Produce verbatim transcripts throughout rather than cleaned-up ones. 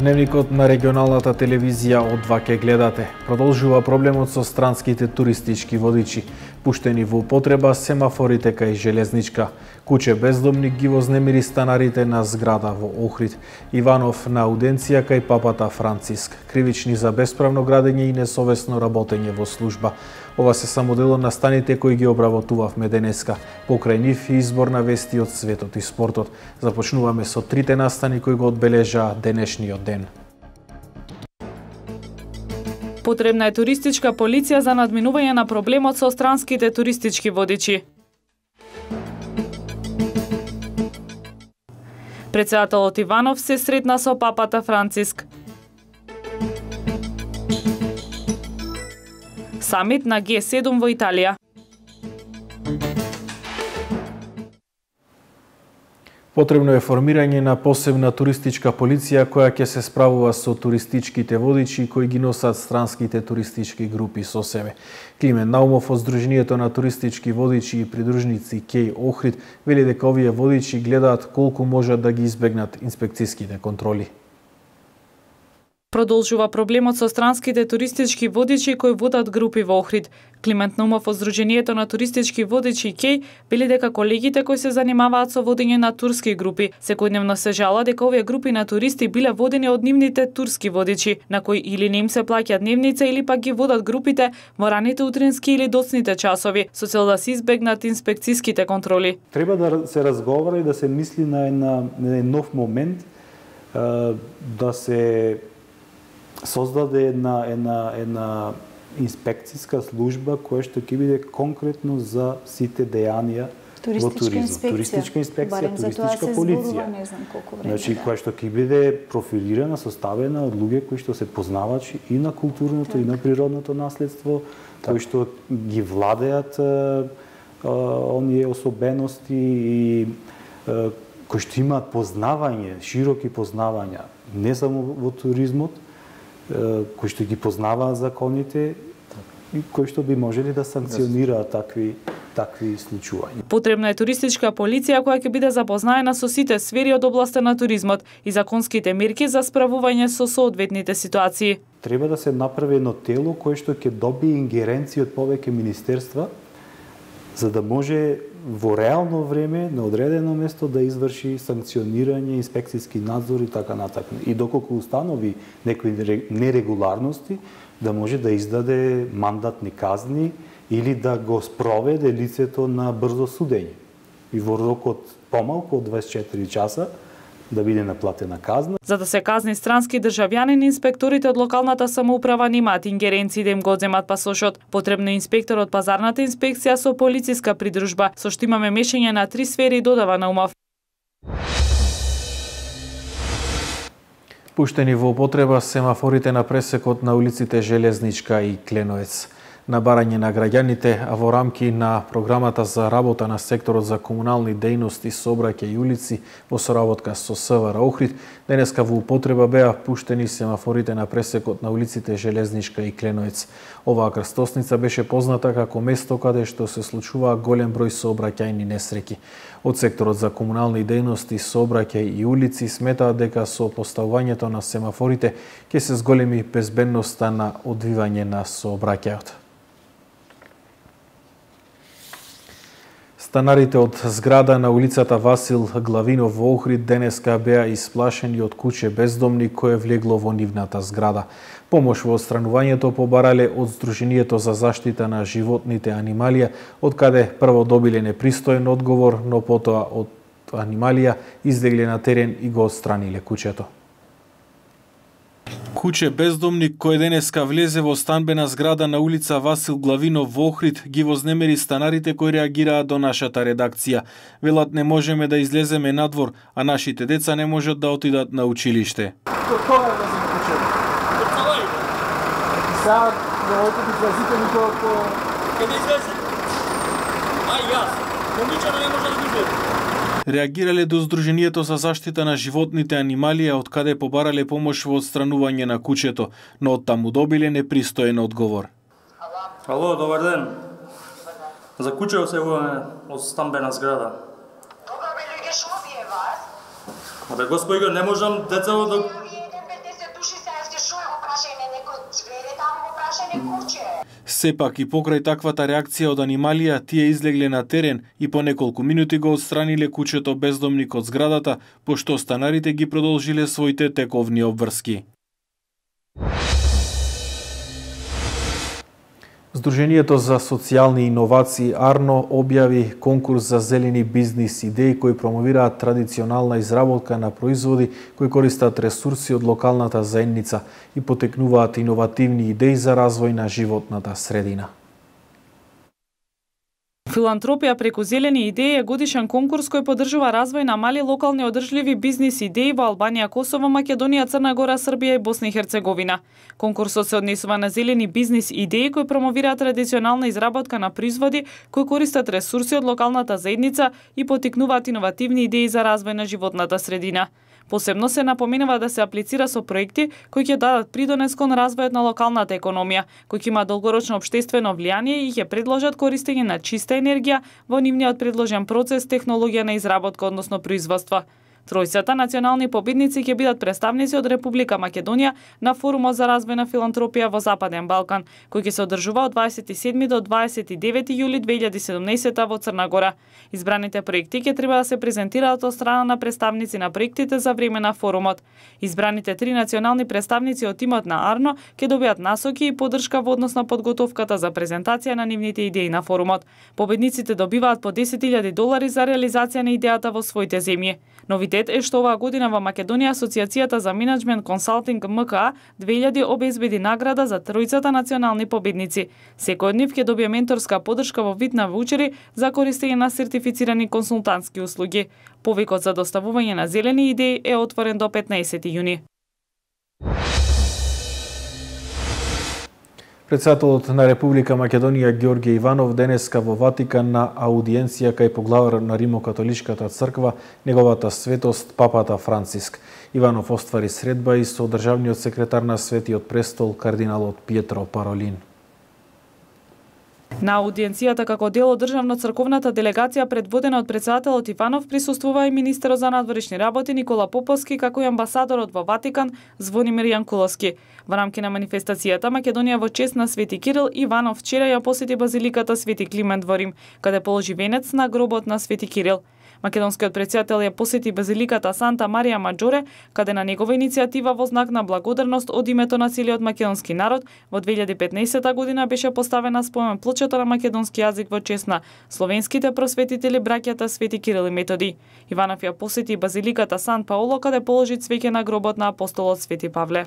Дневникот на регионалната телевизија од два ке гледате. Продолжува проблемот со странските туристички водичи. Пуштени во употреба семафорите кај железничка. Куче бездомник ги вознемири станарите на зграда во Охрид. Иванов на ауденција кај папата Франциск. Кривични за бесправно градење и несовесно работење во служба. Ова се само дел од настаните кои ги обработувавме денеска. Покрај нив и избор на вести од светот и спортот. Започнуваме со трите настани кои го одбележаа денешниот ден. Потребна е туристичка полиција за надминување на проблемот со странските туристички водичи. Председателот Иванов се сретна со папата Франциск. Самит на Ге седум во Италија. Потребно е формирање на посебна туристичка полиција која ќе се справува со туристичките водичи кои ги носат странските туристички групи со себе. Климен Наумов од Сдруженијето на туристички водичи и придружници Кеј Охрид вели дека овие водичи гледаат колку можат да ги избегнат инспекцијските контроли. Продолжува проблемот со странските туристички водичи кои водат групи во Охрид. Климент Наумов од Сдруженијето на туристички водичи Кеј вели дека колегите кои се занимаваат со водење на турски групи секојдневно се жала дека овие групи на туристи биле водени од нивните турски водичи, на кои или не им се плаќа дневница или пак ги водат групите во раните утрински или доцните часови, со цел да се избегнат инспекцијските контроли. Треба да се разговара и да се мисли на една, на еден нов момент, да се создаде една, една, една инспекцијска служба која што ќе биде конкретно за сите дејанија во туризмот. Туристичка инспекција, туристичка полиција. Не знам колку време. Значи, која што ќе биде профилирана, составена од луѓе кои што се познавачи и на културното, так. и на природното наследство, так. кои што ги владеат а, а, оние особености и а, кои што имаат познавање, широки познавања, не само во туризмот, кои што ги познаваат законите и кои што би можели да санкционираат такви такви случувања. Потребна е туристичка полиција која ќе биде запознаена со сите сфери од областа на туризмот и законските мерки за справување со соодветните ситуации. Треба да се направи едно тело кое што ќе добие ингеренција од повеќе министерства за да може во реално време на одредено место да изврши санкционирање, инспекцијски надзор и така натаму. И доколку установи некои нерегуларности, да може да издаде мандатни казни или да го спроведе лицето на брзо судење. И во рокот помалку од дваесет и четири часа да биде наплатена казна. За да се казни странски државјанин, инспекторите од локалната самоуправа немаат ингеренции да им го земат пасошот. Потребно е инспектор од пазарната инспекција со полициска придружба, со што имаме мешање на три сфери, додава Наумов. Пуштени во употреба семафорите на пресекот на улиците Железничка и Кленоец. На барање на граѓаните, а во рамки на програмата за работа на секторот за комунални дејности, сообраќај и улици во соработка со СВР Охрид, денеска во употреба беа пуштени семафорите на пресекот на улиците Железничка и Кленоец. Оваа крстосница беше позната како место каде што се случува голем број сообраќајни несреќи. Од секторот за комунални дејности, сообраќај и улици сметаат дека со поставувањето на семафорите ќе се зголеми безбедноста на одвивање на сообраќајот. Станарите од зграда на улицата Васил Главинов во Охрид денеска беа исплашени од куче бездомник кое влегло во нивната зграда. Помош во отстранувањето побарале од Сдруженијето за заштита на животните анималија, од каде прво добиле непристоен одговор, но потоа од анималија излегле на терен и го отстраниле кучето. Куче бездомник кој денеска влезе во станбена зграда на улица Васил Главинов во Охрид ги вознемери станарите кои реагираат до нашата редакција. Велат не можеме да излеземе надвор, а нашите деца не можат да отидат на училиште. Кога е влезе кучето? Кога? Сега да отидете излезите никога. Каде излезе? Ај јас. Момичето не може да излезе. Реагирале до Сдруженијето за заштита на животните анималија, од каде побарале помош во отстранување на кучето, но од таму добиле непристоен одговор. Ало, добар ден. За кучето се јавуваме од станбена зграда. Добро бе, луѓе, шо ви е вас? Абе, господи, не можам деца да... Сепак и покрај таквата реакција од анималија, тие излегле на терен и по неколку минути го отстраниле кучето бездомник од зградата, пошто станарите ги продолжиле своите тековни обврски. Сдруженијето за социјални иновации Арно објави конкурс за зелени бизнис идеи кои промовираат традиционална изработка на производи кои користат ресурси од локалната заедница и потекнуваат иновативни идеи за развој на животната средина. Филантропија преку зелени идеи е годишен конкурс кој поддржува развој на мали локални одржливи бизнис идеи во Албанија, Косово, Македонија, Црна Гора, Србија и Босна и Херцеговина. Конкурсот се однесува на зелени бизнис идеи кои промовираат традиционална изработка на производи кои користат ресурси од локалната заедница и поттикнуваат иновативни идеи за развој на животната средина. Посебно се напоменува да се аплицира со проекти кои ќе дадат придонес кон развојот на локалната економија, кои ќе има долгорочно општествено влијание и ќе предложат користење на чиста енергија во нивниот предложен процес, технологија на изработка, односно производство. Тројцата национални победници ќе бидат представници од Република Македонија на форумот за развој на филантропија во Западен Балкан, кој ќе се одржува од дваесет и седми до дваесет и девети јули две илјади и седумнаесета во Црна Гора. Избраните проекти ќе треба да се презентираат од страна на представници на проектите за време на форумот. Избраните три национални представници од тимот на Арно ќе добијат насоки и поддршка во однос на подготовката за презентација на нивните идеи на форумот. Победниците добиваат по десет илјади долари за реализација на идејата во своите земји. Новитет е што оваа година во Македонија Асоциацијата за менеджмент консалтинг М К А две илјади обезбеди награда за тројцата национални победници. Секој од нив ќе добие менторска поддршка во вид на ваучери за користење на сертифицирани консултантски услуги. Повикот за доставување на зелени идеи е отворен до петнаесети јуни. Претседателот на Република Македонија Ѓорѓе Иванов денеска во Ватикан на аудиенција кај поглавар на Римокатоличката црква, неговата светост папата Франциск. Иванов оствари средба и со државниот секретар на Светиот престол кардиналот Пиетро Паролин. На аудиенцијата како дел од државно-црковната делегација предводена од претседателот Иванов присуствува и министерот за надворешни работи Никола Поповски, како и амбасадорот во Ватикан Звонимир Јанкуловски. Во рамки на манифестацијата Македонија во чест на Свети Кирил, Иванов вчера ја посети базиликата Свети Климент во Рим, каде положи венец на гробот на Свети Кирил. Македонскиот претседател ја посети базиликата Санта Марија Маџоре, каде на негова иницијатива во знак на благодарност од името на целиот македонски народ во две илјади и петнаесета година беше поставена спомен плочата на македонски јазик во чест на словенските просветители браќата Свети Кирил и Методи. Иванов ја посети базиликата Сан Паоло, каде положи цвеќе на гробот на апостолот Свети Павле.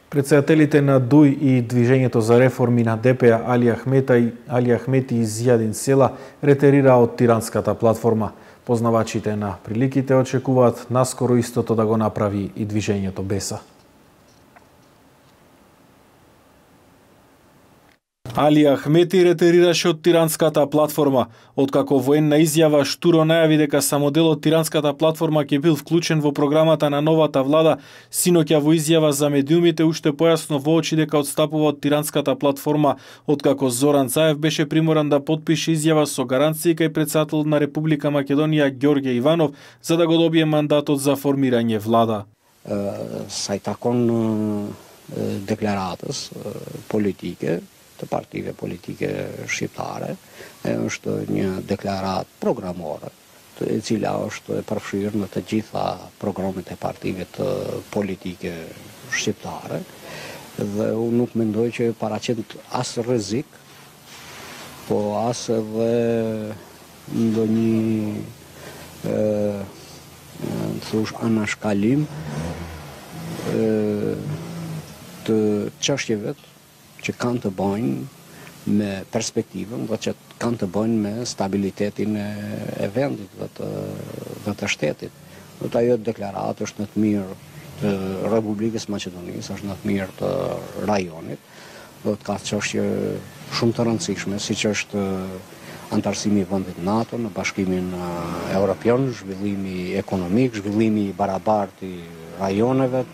Претседателите на ДУИ и Движењето за реформи на Д П А Али Ахмета и Али Ахмети и Зијадин Села ретерира од тиранската платформа. Познавачите на приликите очекуваат наскоро истото да го направи и Движењето Беса. Али Ахмети ретерираше од тиранската платформа, откако военна изјава штуро најави дека само дел од тиранската платформа ќе бил вклучен во програмата на новата влада. Синоќа во изјава за медиумите уште појасно воочи дека одстапува од тиранската платформа, откако Зоран Заев беше приморан да потпише изјава со гаранции кај претседателот на Република Македонија Ѓорѓе Иванов за да го добие мандатот за формирање влада. Сај такон декларатас политике të partive politike shqiptare, është një deklarat programore, e cila është e përfshirë në të gjitha programet e partive të politike shqiptare, dhe unë nuk mendoj që paraqet asë rrezik, po asë edhe ndonjë thosh anashkalim të çështjeve që kanë të bëjnë me perspektivën dhe që kanë të bëjnë me stabilitetin e vendit dhe të, dhe të shtetit. Dhe të ajo deklaratë është në të mirë të Republikës Maqedonisë, është në të mirë të rajonit, dhe të ka çështje shumë të rëndësishme, si që është antarësimi i vendit NATO në Bashkimin Evropian, zhvillimi ekonomik, zhvillimi i barabartë i rajoneve,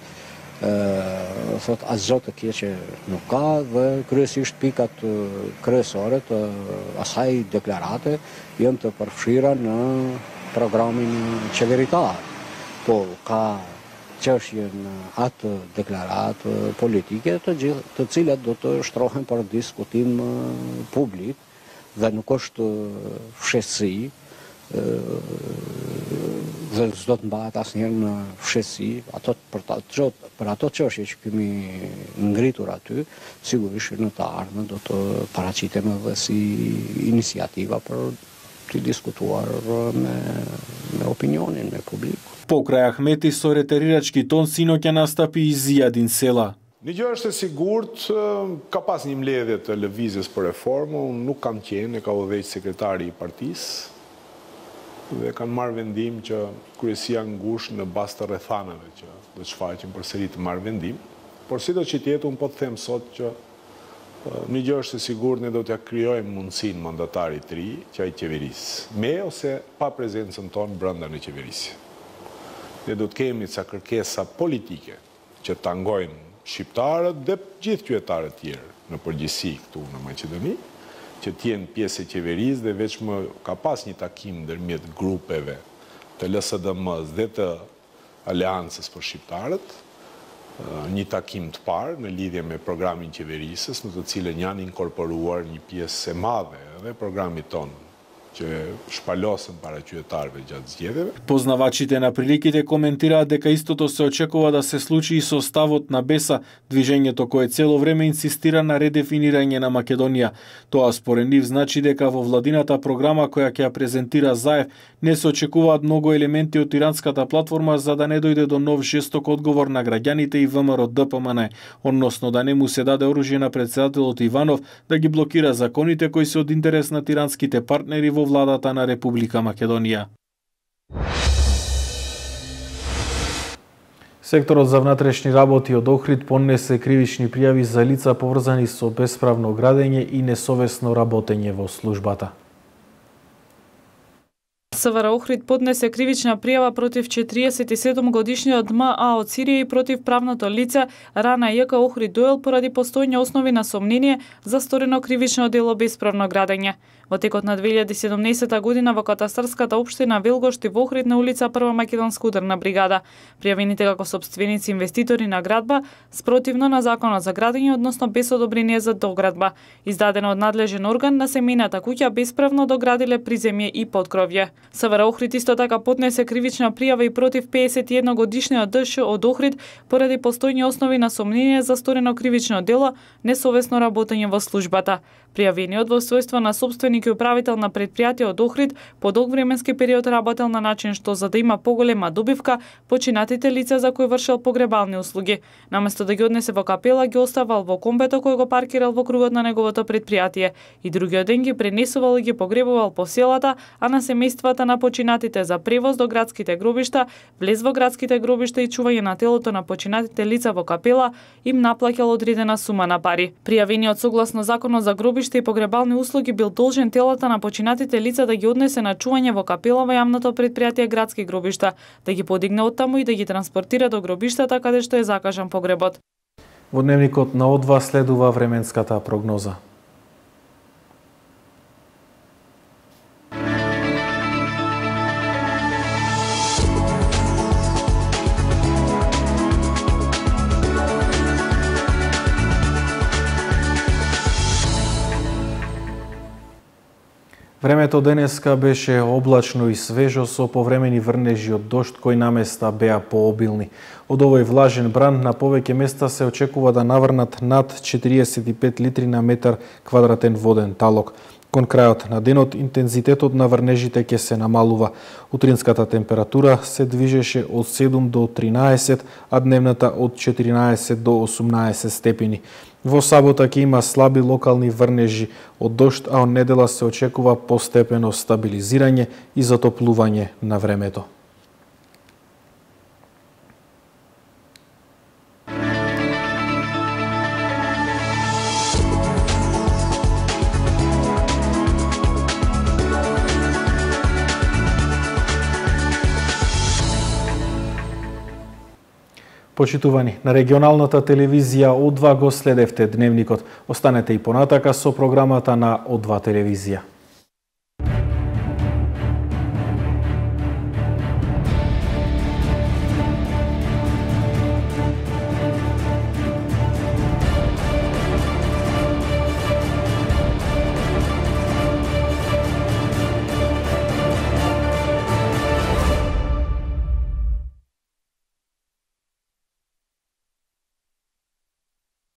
thot asgjë të keqe nuk ka dhe kryesisht pikat kryesore të asaj deklarate janë të përfshira në programin qeveritar. Po ka çështje në atë deklaratë politike të gjithë, të cilat do të shtrohen për diskutim publik dhe nuk është fshehësi dhe s'do të mbahet asnjëherë në fshehësi, ato për ato për ato çështje që kemi ngritur aty, sigurisht në të ardhmen do të paraqiten edhe si iniciativa për të diskutuar me me opinionin, me publikun. Pokraj Ahmeti со ретерирачки тон синоќа настапи и Ziadin Sela. Një gjë është e sigurt, ka pas një mbledhje të lëvizjes për reformë, unë nuk kam qenë, e ka udhëheq sekretari i partisë dhe kanë marrë vendim që kryesia ngushtë në bazë të rrethanave që do të shfaqen përsëri të marrë vendim, por sido që të jetë unë po të them sot që një gjë është e sigurt, ne do t'ja krijojmë mundësinë mandatarit të ri që ai qeverisë, me ose pa prezencën tonë brenda në qeverisje. Ne do të kemi ca kërkesa politike që tangojnë shqiptarët dhe gjithë qytetarët tjerë në përgjithësi këtu në Maqedoni, që t'jenë pjesë e qeverisë dhe veç më ka pas një takim ndërmjet grupeve të L S D M-s dhe të Aleancës për shqiptarët, një takim të parë në lidhje me programin qeverisës, në të cilën janë inkorporuar një pjesë e madhe dhe programit tonë që shpalosën para qytetarëve gjatë zgjedhjeve. Познавачите на приликите коментираат дека истото се очекува да се случи и со ставот на Беса, движењето кое цело време инсистира на редефинирање на Македонија. Тоа според нив значи дека во владината програма која ќе ја презентира Заев не се очекуваат многу елементи од тиранската платформа за да не дојде до нов жесток одговор на граѓаните и ВМРО Д P M N, односно да не му се даде оружје на претседателот Иванов да ги блокира законите кои се од интерес на тиранските партнери во владата на Република Македонија. Секторот за внатрешни работи од Охрид поднесе кривични пријави за лица поврзани со бесправно градење и несовесно работење во службата. С В Р Охрид поднесе кривична пријава против четириесет и седум годишниот М А од Сирија и против правното лице Рана Ј К Охрид Дојел поради постојни основи на сомнение за сторено кривично дело бесправно градење. Во текот на две илјади и седумнаесета година во катастарската општина Велгошти во Охрид на улица Прва македонска ударна бригада, пријавените како сопственици инвеститори на градба спротивно на законот за градење, односно без одобрение за доградба, издадено од надлежен орган на семејната куќа бесправно доградиле приземје и поткровје. С В Р Охрид исто така поднесе кривична пријава и против пеесет и едно годишниот Д Ш од Охрид поради постојни основи на сомнение за сторено кривично дело несовесно работење во службата. Пријавениот во својство на собственик и управител на предпријатие од Охрид по долг временски период работел на начин што за да има поголема добивка починатите лица за кои вршел погребални услуги. Наместо да ги однесе во капела, ги оставал во комбето кој го паркирал во кругот на неговото предпријатие и другиот ден ги пренесувал и ги погребувал по селата, а на семејствата на починатите за превоз до градските гробишта, влез во градските гробишта и чување на телото на починатите лица во капела им наплаќал одредена сума на пари. Пријавениот согласно законот за гробишта и погребални услуги бил должен телата на починатите лица да ги однесе на чување во капела во јавното предпријатие градски гробишта, да ги подигне оттаму и да ги транспортира до гробиштата каде што е закажан погребот. Во дневникот на О два следува временската прогноза. Времето денеска беше облачно и свежо со повремени врнежи од дожд кои наместа беа пообилни. Од овој влажен бран на повеќе места се очекува да наврнат над четириесет и пет литри на метар квадратен воден талок. Кон крајот на денот интензитетот на врнежите ќе се намалува. Утринската температура се движеше од седум до тринаесет, а дневната од четиринаесет до осумнаесет степени. Во сабота ќе има слаби локални врнежи од дожд, а од недела се очекува постепено стабилизирање и затоплување на времето. Почитувани, на регионалната телевизија О два го следевте дневникот. Останете и понатака со програмата на О два телевизија.